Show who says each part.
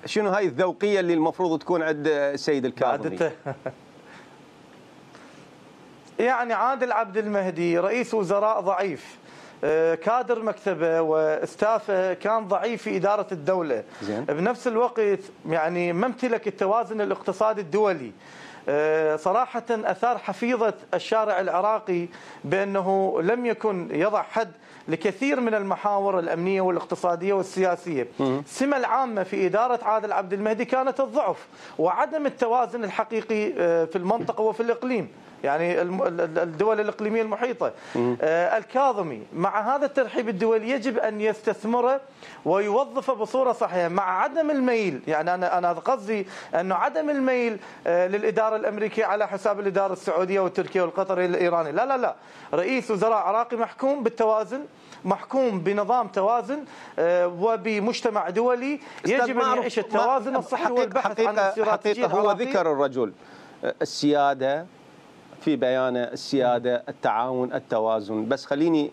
Speaker 1: شنو هاي الذوقيه اللي المفروض تكون عند السيد الكاظمي؟
Speaker 2: يعني عادل عبد المهدي رئيس وزراء ضعيف، كادر مكتبه واستافه كان ضعيف في إدارة الدولة.
Speaker 1: زين.
Speaker 2: بنفس الوقت يعني ما امتلك التوازن الاقتصادي الدولي. صراحة أثار حفيظة الشارع العراقي بأنه لم يكن يضع حد لكثير من المحاور الأمنية والاقتصادية والسياسية. السمة العامة في إدارة عادل عبد المهدي كانت الضعف وعدم التوازن الحقيقي في المنطقة وفي الإقليم، يعني الدول الإقليمية المحيطة. الكاظمي مع هذا الترحيب الدولي يجب أن يستثمره ويوظفه بصورة صحيحة مع عدم الميل، يعني أنا قصدي أنه عدم الميل للإدارة الأمريكية على حساب الإدارة السعودية والتركية والقطرية والإيرانية. لا لا لا، رئيس وزراء عراقي محكوم بالتوازن، محكوم بنظام توازن وبمجتمع دولي يجب أن يعيش التوازن الصحي والبحث عن الاستراتيجية
Speaker 1: هو ذكر الرجل السيادة في بيانه، السيادة، التعاون، التوازن، بس خليني